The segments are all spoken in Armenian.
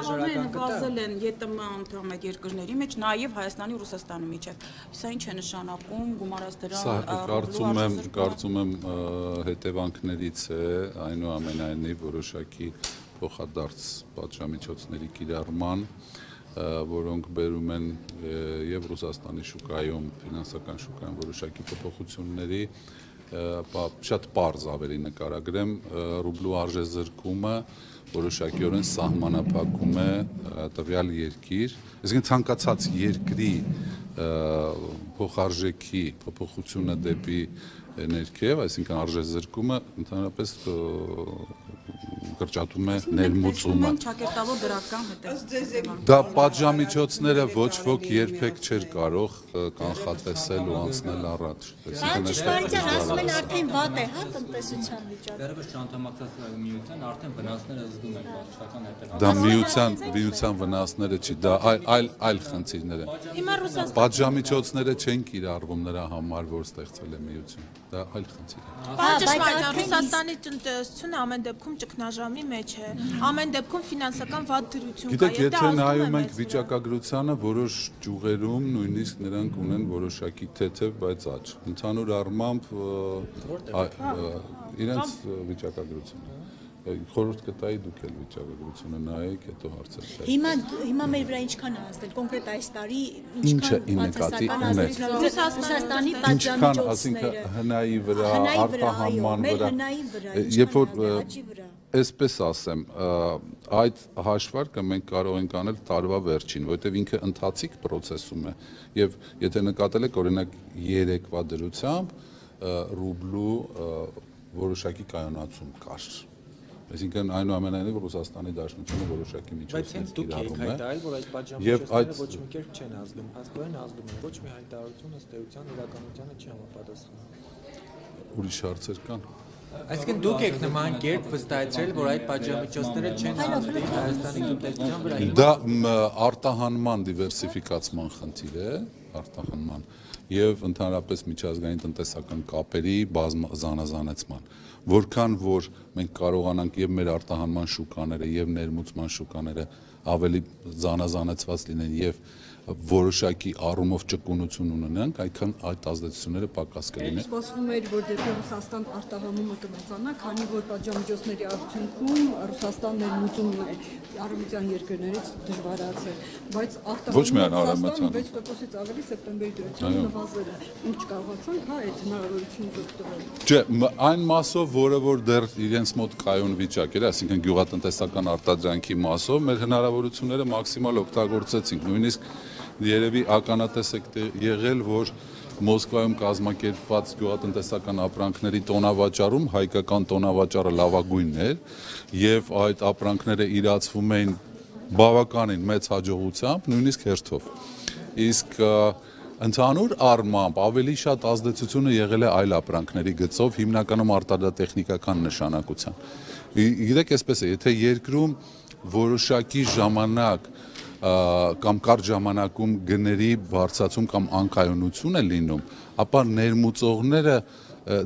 Տաղավարները նվազել են ԵՏՄ անդամ երկրների մեջ, նաև Հայաստանի ու Ռուսաստանի միջև։ Սա ինչ է նշանակում, գումարած դրան կարծում եմ հետևանքներից է, այնուամենայնիվ որոշակի փոխադարձ պատժամիջոցների կիրառման, որոնք բերում են եւ Ռուսաստանի շուկայում, ֆինանսական շուկայում որոշակի փոփոխությունների, շատ պարզ ավելի նկարագրեմ, ռուբլու արժեզրկումը որոշակիորեն սահմանափակում է տվյալ երկիր, այսինքն ցանկացած երկրի փոխարժեքի փոփոխությունը դեպի ներքև, այսինքն արժեզրկումը ընդհանրապես կրճատում է ներմուծումը։ Դա պատժամիջոցները ոչ ոք երբեք չէր կարող կանխատեսել ու անցնել առաջ։ Իշխանության ասում են արդեն վատ է, հա, տնտեսության վիճակը։ Դեռևս չանդամակցած միության արդեն վնասները զգում են բարձրական հետևանքներ։ Դա միության վնասները չի, դա այլ խնդիրներ են։ Պատժամիջոցները չեն կիրառվում նրա համար, որ ստեղծվել է միություն։ Դա այլ խնդիր է։ Ռուսաստանի տնտեսությունը ամեն դեպքում ճգնաժամի մեջ է, ամեն դեպքում ֆինանսական վատ դրություն կա։ Գիտեք, եթե նայում ենք վիճակագրությանը, որոշ ճյուղերում նույնիսկ նրանք ունեն որոշակի թեթև, բայց աճ։ Ընդհանուր առմամբ իրենց վիճակագրությունը խորհուրդ կտայի դուք էլ վիճակագրությունը նայեք, հետո հարցեր տալու։ Հիմա մեր վրա ինչքան է ազդել կոնկրետ այս տարի, ինչքան բացասական ազդեցություն Ռուսաստանի պատժամիջոցները, հնայի վրա, արտահանման վրա, երբ որ այսպես ասեմ, այդ հաշվարկը մենք կարող ենք անել տարվա վերջին, որովհետև ինքը ընթացիկ process-ում է, եւ եթե նկատել եք օրինակ երեկվա դրությամբ ռուբլու որոշակի կայունացում կար։ Այսինքն այնուամենայնիվ Ռուսաստանի Դաշնությունը որոշակի միջոցներ կիրառում է։ Որ այդ պատժամիջոցները ոչ մի կերպ չեն ազդում, հաստատորեն ազդում են, ոչ մի հայտարարություն ըստ էության իրականությանը չի համապատասխանում։ Ուրիշ հարցեր կան։ Այսինքն դուք եք նման կերպ վստահեցրել, որ այդ պատժամիջոցները չեն ազդի Հայաստանի տնտեսության վրա։ Դա արտահանման դիվերսիֆիկացման խնդիր է, արտահանման եւ ընդհանրապես միջազգային տնտեսական կապերի զանազանեցման, որքան որ մենք կարողանանք եւ մեր արտահանման շուկաները եւ ներմուծման շուկաները ավելի զանազանեցված լինեն եւ որոշակի առումով ճկունություն ունենանք, այդքան այդ ազդեցությունները պակաս կլինեն։ Սպասվում էր, որ դեպի Ռուսաստան արտահանումը կմեծանա, քանի որ պատժամիջոցների արդյունքում Ռուսաստան ներմուծումն է արևմտյան երկրներից դժվարացել, բայց արտահանումը 6%-ից ավելի սեպտեմբերի դրությամբ նվազել է։ Ինչ կարողացանք, հա, այդ հնարավորությունը օգտվել։ Չէ, այն մասով, որը որ դեռ իրենց մոտ կայուն վիճակ էր, այսինքն գյուղատնտեսական արտադրանքի մասով, մեր հնարավորությունները մաքսիմալ օգտագործեցինք, նույնիսկ երևի ականատես եք եղել, որ Մոսկվայում կազմակերպված գյուղատնտեսական ապրանքների տոնավաճառում հայկական տոնավաճառը լավագույնն էր եւ այդ ապրանքները իրացվում էին բավականին մեծ հաջողությամբ, նույնիսկ հերթով։ Իսկ ընդհանուր առմամբ ավելի շատ ազդեցությունը եղել է այլ ապրանքների գծով, հիմնականում արտադրատեխնիկական նշանակության։ Գիտեք, այսպես է, եթե երկրում որոշակի ժամանակ կամ կարճ ժամանակում գների բարձրացում կամ անկայունություն է լինում, ապա ներմուծողները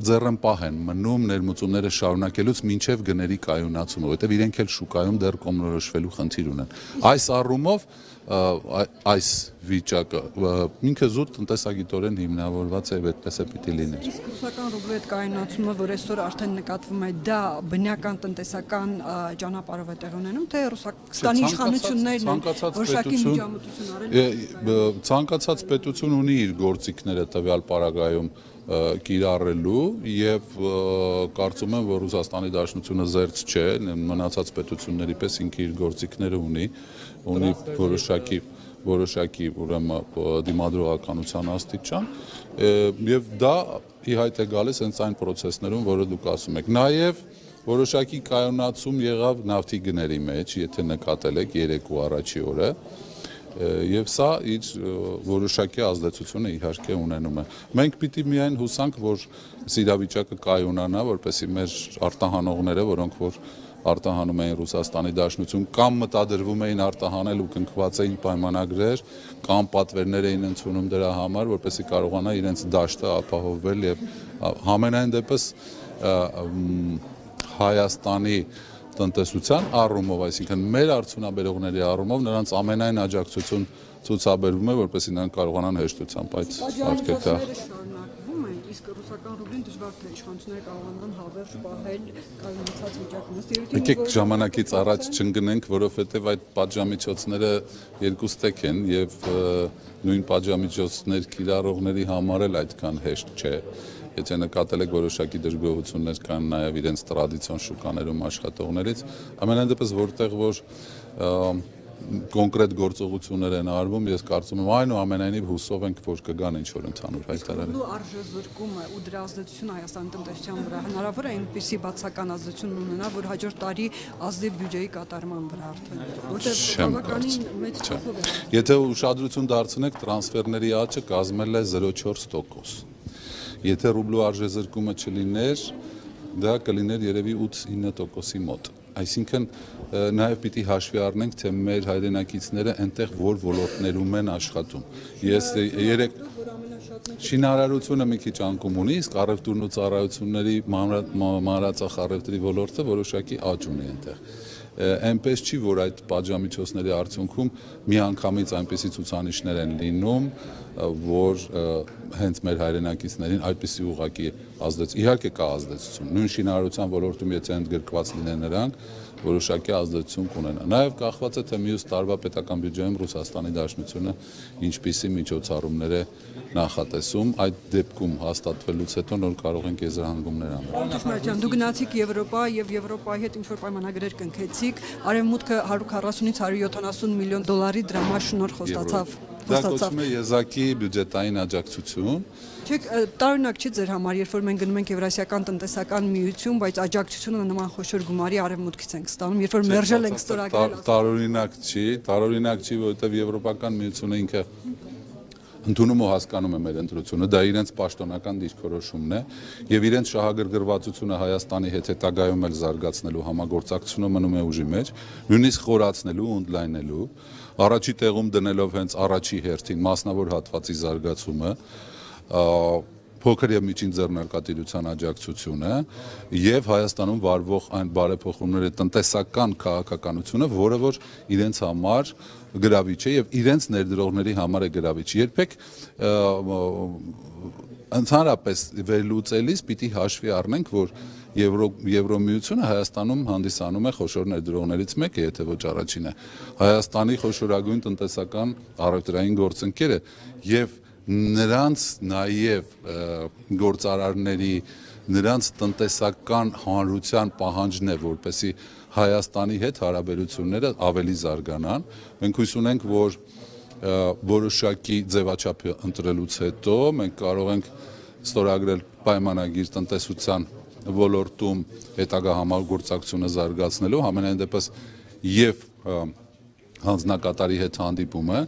ձեռնպահ են մնում ներմուծումները շարունակելուց մինչև գների կայունացումը, որովհետև իրենք էլ շուկայում դեռ կողմնորոշվելու խնդիր ունեն։ Այս առումով այս վիճակը ինքը զուտ տնտեսագիտորեն հիմնավորված է, այդպես է պիտի լիներ։ Իսկ ռուսական ռուբլի այդ կայունացումը, որ այսօր արդեն նկատվում է, դա բնական տնտեսական ճանապարհով է տեղ ունենում, թե Ռուսաստանի իշխանություններն են որոշակի միջամտություն արել։ Ցանկացած պետություն ունի իր գործիքները տվյալ պարագայում կիրառելու եւ կարծում եմ, որ Ռուսաստանի Դաշնությունը զերծ չէ, մնացած պետությունների պես ինքը իր գործիքները ունի որոշակի ուրեմն դիմադրողականության աստիճան եւ դա ի հայտ է գալիս հենց այն process-ներում, որը դուք ասում եք։ Նաեւ որոշակի կայունացում եղավ նավթի գների մեջ, եթե նկատել եք երեկո առաջի օրը, եւ սա իր որոշակի ազդեցությունը իհարկե ունենում է։ Մենք պիտի միայն հուսանք, որ իրավիճակը կայունանա, որպեսզի մեր արտահանողները, որոնք որ արտահանում էին Ռուսաստանի Դաշնություն, կամ մտադրվում էին արտահանել ու կնքված էին պայմանագրեր, կամ պատվերներ էին ընդունում դրա համար, որպեսզի կարողանա իրենց դաշտը ապահովել եւ համենայն դեպս Հայաստանի տնտեսության առումով, այսինքն մեր արդյունաբերողների առումով նրանց ամենայն աջակցություն ցուցաբերվում է, որպեսզի նրանք կարողանան հեշտությամբ այդ արկելքը շարունակվում են, իսկ ռուսական ռուբլին դժվար թե իշխանությունները կարողանան հավերժ պահել կայունացած վիճակում։ Եկեք ժամանակից առաջ չընկնենք, որովհետև այդ պատժամիջոցները երկու ստեկ են եւ նույն պատժամիջոցներ կիրառողների համար էլ այդքան հեշտ չէ։ Եթե նկատել եք որոշակի դժգոհություններ կան նաև իրենց տրադիցիոն շուկաներում աշխատողներից, ամենայն դեպս որտեղ որ կոնկրետ գործողություններ են արվում, ես կարծում եմ այնուամենայնիվ հուսով ենք, որ կգան ինչ-որ ընդհանուր հայտարարություններ։ Ու արժեզրկումը ու դրա ազդեցությունը Հայաստանի տնտեսության վրա հնարավոր է այնպիսի բացական ազդեցություն ունենա, որ հաջորդ տարի ազդի բյուջեի կատարման վրա արդեն, որտեղ բավականին մեծ չափով է։ Եթե ուշադրություն դարձնեք, տրանսֆերների աճը կազմել է 0.4%։ Եթե ռուբլու արժեզրկումը չլիներ, դա կլիներ երևի 8-9%-ի մոտ։ Այսինքն նաև պիտի հաշվի առնենք, թե մեր հայրենակիցները այնտեղ որ ոլորտներում են աշխատում։ Ես երեք շինարարությունը մի քիչ անկում ունի, իսկ առևտուրն ու ծառայությունների մանրածախ առևտրի ոլորտը որոշակի աճ ունի այնտեղ։ Այնպես չի, որ այդ պատժամիջոցների արդյունքում միանգամից այնպիսի ցուցանիշներ են լինում, որ հենց մեր հայրենակիցներին այդպիսի ուղղակի ազդեցություն, իհարկե կա ազդեցություն։ Նույն շինարարության ոլորտում եթե ընդգրկված լինեն նրանք, որոշակի ազդեցություն կունենա։ Նաև կախված է թե մյուս տարվա պետական բյուջեում Ռուսաստանի Դաշնությունը ինչպիսի միջոցառումներ է նախատեսում, այդ դեպքում հաստատվելուց հետո նոր կարող ենք եզրահանգումներ անել։ Դու գնացիք Եվրոպա եւ Եվրոպայի հետ ինչ-որ պայմանագրեր կնքեցիք, Արևմուտքը 140-ից 170 միլիոն դոլարի դրամաշ շնորհ խոստացավ։ Դա կոչվում է եզակի բյուջետային աջակցություն։ Չեք, տարօրինակ չի ձեր համար, երբ որ մենք գնում ենք Եվրասիական տնտեսական միություն, բայց աջակցությունը նման խոշոր գումարի Արևմուտքից ենք ստանում, երբ որ մերժել ենք ստորագրել։ Տարօրինակ չի, որովհետև Եվրոպական միությունը ինքը ընդունում ու հասկանում է մեր ընտրությունը, դա իրենց պաշտոնական դիրքորոշումն է եւ իրենց շահագրգռվածությունը Հայաստանի հետ հետագայում էլ զարգացնելու համագործակցությունը մնում է ուժի մեջ, նույնիսկ խորացնելու ու ընդլայնելու, առաջի տեղում դնելով հենց առաջի հերթին մասնավոր հատվածի զարգացումը, փոքր եւ միջին ձեռնարկատիրության աջակցությունը եւ Հայաստանում վարվող այն բարեփոխումների տնտեսական քաղաքականությունը, որը որ իրենց համար գրավիչ է եւ իրենց ներդրողների համար է գրավիչ։ Երբեք ընդհանրապես վերլուծելիս պիտի հաշվի առնենք, որ Եվրոմիությունը Հայաստանում հանդիսանում է խոշոր ներդրողներից մեկը, եթե ոչ առաջինը։ Հայաստանի խոշորագույն տնտեսական առևտրային գործընկերը եւ նրանց նաև գործարարների, նրանց տնտեսական հանրության պահանջն է, որպեսզի Հայաստանի հետ հարաբերությունները ավելի զարգանան։ Մենք հույս ունենք, որ որոշակի ձևաչափ ընտրելուց հետո մենք կարող ենք ստորագրել պայմանագիր տնտեսության ոլորտում հետագա համագործակցությունը զարգացնելու, համենայն դեպս եւ հանձնակատարի հետ հանդիպումը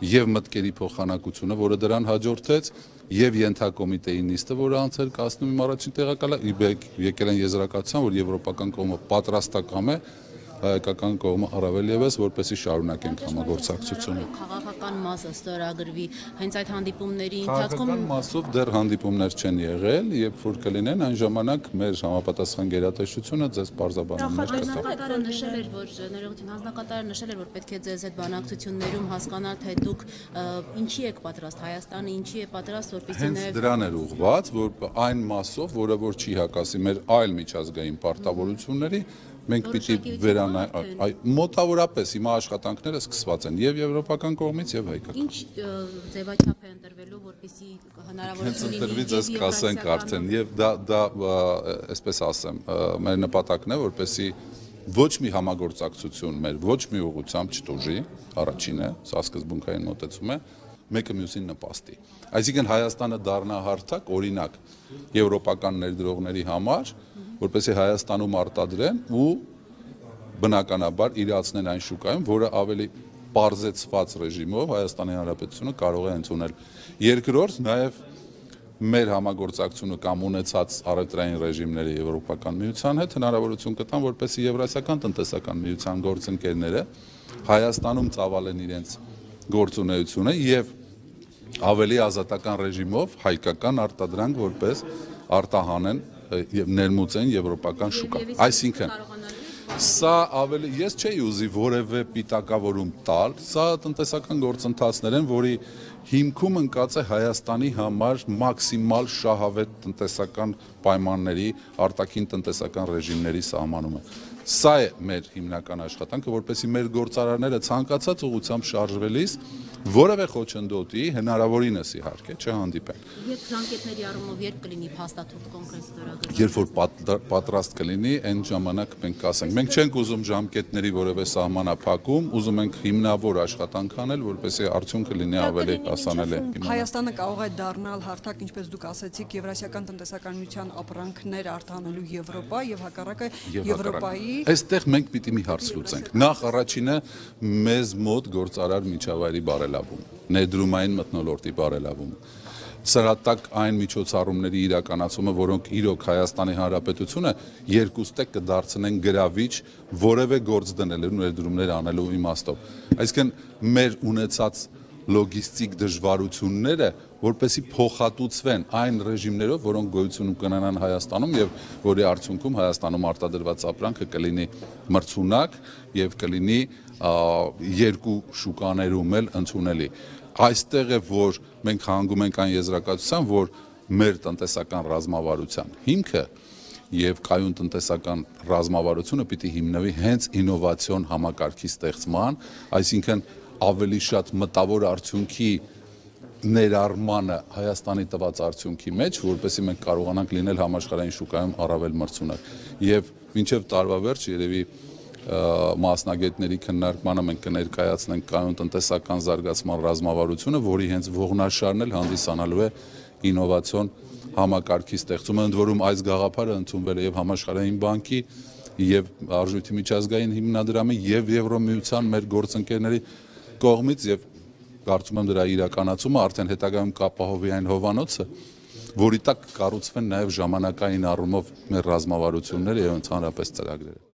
եւ մտքերի փոխանակությունը, որը դրան հաջորդեց, եւ ենթակոմիտեի նիստը, որը անցել կազմում իմ առաջին տեղակալը, եկել են եզրակացության, որ եվրոպական կողմը պատրաստական է, հայկական կողմը առավել եւս, որպեսզի շարունակենք համագործակցությունը։ Քաղաքական մասը ստորագրվի, հենց այդ հանդիպումների ընթացքում քաղաքական մասով դեռ հանդիպումներ չեն եղել, երբ որ կլինեն, այն ժամանակ մեր համապատասխան գերատեսչությունը ձեզ պարզաբանումներ կտա։ Հանձնակատարը նշել էր, որ ներողություն, հանձնակատարը նշել էր, որ պետք է ձեզ այդ բանակցություններում հասկանալ, թե դուք ինչի եք պատրաստ, Հայաստանը ինչի է պատրաստ, որպեսզի հենց դրան էր ուղղված, որ այն մասով, որը որ չի հակասի մեր այլ միջազգային պարտավորությունների, մենք պիտի վերանայենք մոտավորապես հիմա աշխատանքները սկսված են եւ եվրոպական կողմից եւ հայկական։ Ինչ ձևաչափ է ընտրվելու, որպեսզի հնարավորություն լինի։ Ընտրվից ես կասենք արդեն եւ դա այսպես ասեմ, մեր նպատակն է, որպեսզի ոչ մի համագործակցություն մեր ոչ մի ուղղությամբ չտուժի, առաջինը, սա սկզբունքային մոտեցում է, մեկը մյուսին նպաստի։ Այսինքն Հայաստանը դառնա հարթակ, օրինակ, եվրոպական ներդրողների համար, որպեսզի Հայաստանում արտադրեն ու բնականաբար իրացնեն այն շուկայում, որը ավելի պարզեցված ռեժիմով Հայաստանի Հանրապետությունը կարող է ընդունել։ Երկրորդ, նաև մեր համագործակցությունը կամ ունեցած առևտրային ռեժիմների Եվրոպական միության հետ հնարավորություն կտան, որպեսզի Եվրասիական տնտեսական միության գործընկերները Հայաստանում ծավալեն իրենց գործունեությունը եւ ավելի ազատական ռեժիմով հայկական արտադրանք որպես արտահանեն եւ ներմուծեն եվրոպական շուկա։ Այսինքն Սա ավելի ես չէի ուզի որևէ պիտակավորում տալ, սա տնտեսական գործընթացներ են, որի հիմքում ընկած է Հայաստանի համար մաքսիմալ շահավետ տնտեսական պայմանների, արտաքին տնտեսական ռեժիմների սահմանումը։ Սա է մեր հիմնական աշխատանքը, որպեսզի մեր գործարարները ցանկացած ուղղությամբ շարժվելիս որևէ խոչընդոտի հնարավորինս իհարկե չհանդիպեն։ Երբ ժամկետների առումով երբ կլինի փաստաթուղթ կոնկրետ ստորագրված։ Երբ որ պատրաստ կլինի, այն ժամանակ մենք կասենք։ Մենք չենք ուզում ժամկետների որևէ սահմանափակում, ուզում ենք հիմնավոր աշխատանք անել, որպեսզի արդյունքը լինի ավելի հասանելի։ Հայաստանը կարող է դառնալ հարթակ, ինչպես դուք ասացիք, Եվրասիական տնտեսական միության ապրանքներ արտահանելու Եվրոպա եւ հակառակը Եվրոպայի։ Այստեղ մենք պիտի մի հարց լուծենք։ Նախ առաջինը մեզ մոտ գործարար միջավայրի բարելավում, ներդրումային մթնոլորտի բարելավում։ Սրատակ այն միջոցառումների իրականացումը, որոնք իրոք Հայաստանի Հանրապետությունը երկուստեք կդարձնեն գրավիչ որևէ գործ դնելու ներդրումներ անելու իմաստով։ Այսինքն մեր ունեցած լոգիստիկ դժվարությունները, որպեսզի փոխհատուցվեն այն ռեժիմներով, որոնք գոյություն կունենան Հայաստանում եւ որի արդյունքում Հայաստանում արտադրված ապրանքը կլինի մրցունակ եւ կլինի երկու շուկաներում էլ ընդունելի։ Այստեղ է, որ մենք հանգում ենք այն եզրակացության, որ մեր տնտեսական ռազմավարության հիմքը եւ կայուն տնտեսական ռազմավարությունը պիտի հիմնվի հենց ինովացիոն համակարգի ստեղծման, այսինքն ավելի շատ մտավոր արդյունքի ներառմանը Հայաստանի տված արդյունքի մեջ, որպեսզի մենք կարողանանք լինել համաշխարհային շուկայում առավել մրցունակ։ Եվ մինչև տարվա վերջ երևի մասնագետների քննարկմանը մենք կներկայացնենք կայուն տնտեսական զարգացման ռազմավարությունը, որի հենց ողնաշարն էլ հանդիսանալու է ինովացիոն համակարգի ստեղծումը, ընդ որում այս գաղափարը ընդունվել է եւ Համաշխարհային բանկի եւ Արժույթի միջազգային հիմնադրամի եւ Եվրոմիության մեր գործընկերների կողմից եւ կարծում եմ դրա իրականացումը արդեն հետագայում կապահովի այն հովանոցը, որի տակ կառուցվեն նաեւ ժամանակային առումով մեր ռազմավարությունները եւ ընդհանրապես ծրագրերը։